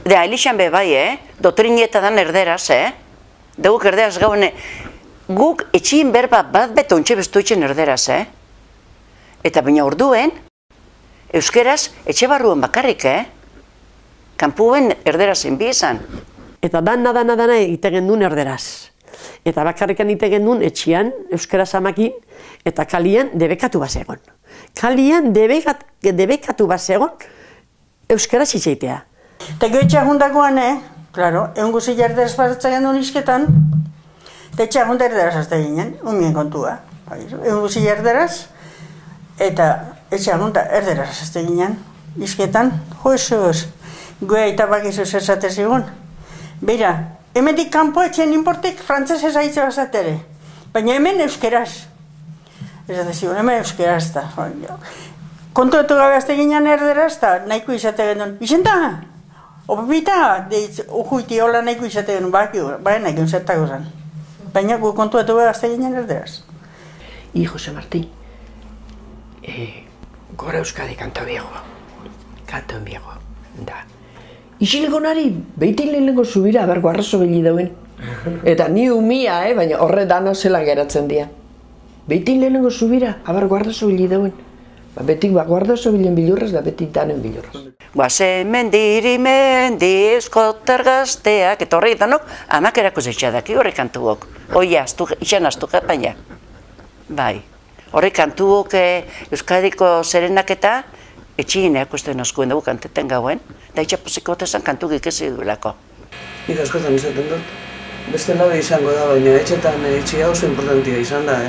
Elixan be bai, doktrineta dan erderaz, Deguk erderaz gaune, guk etxin berba bat beto ontxe bestu etxen erderaz, Eta baina orduen, euskeraz etxe barruen bakarrik, Kanpuen erderazen bizan. Eta dana egiten duen erderaz. Eta bakarrikan egiten duen etxian, euskaraz amakin, eta kalian debekatu bazegon. Kalian debekatu bazegon, euskaraz izaitea. Eta etxea jundakoan, klaro, egun guzi erderaz batzen duen izketan, eta etxea junda erderaz azte ginen, unien kontua. Egun guzi erderaz, eta etxea junda erderaz azte ginen, izketan, joesuz, goea eta bakizuz esate zigun. Beira, hemendik kanpo etxean inportek frantzesez aitzea bazatere, baina hemen euskeraz. Ez zigun, hemen euskeraz da. Kontuetu gabe azte ginen erderaz da, nahiko izate genuen. Izen da? Opita, ujuiti hola nahiko izate genuen, baina nahiko zertako zen. Baina gu kontuetu gabe azte ginen erderaz. Jose Martín, gora Euskadi kanto viejo. Kanto viejo, da. Isiliko nari, behitin lehenengo zubira, abergo arrazo bili dauen. Eta ni umia, baina horre dana zela geratzen dira. Behitin lehenengo zubira, abergo arrazo bili dauen. Betik guardazo bilen bilurraz da betik danen bilurraz. Guazen mendiri eskotar gazteak, eta horrek danok, amakerako zetxadaki horrek kantuok. Oia, izan astu baina. Bai, horrek kantuok Euskadiko zerenaketa, etxigineak uste nazkuen dugu kanteten gauen, da itxapoziko otezan kantu gikezi duelako. Nik askotan izaten dut. Beste nabe izango da, baina etxetan etxi hau importantia izan da,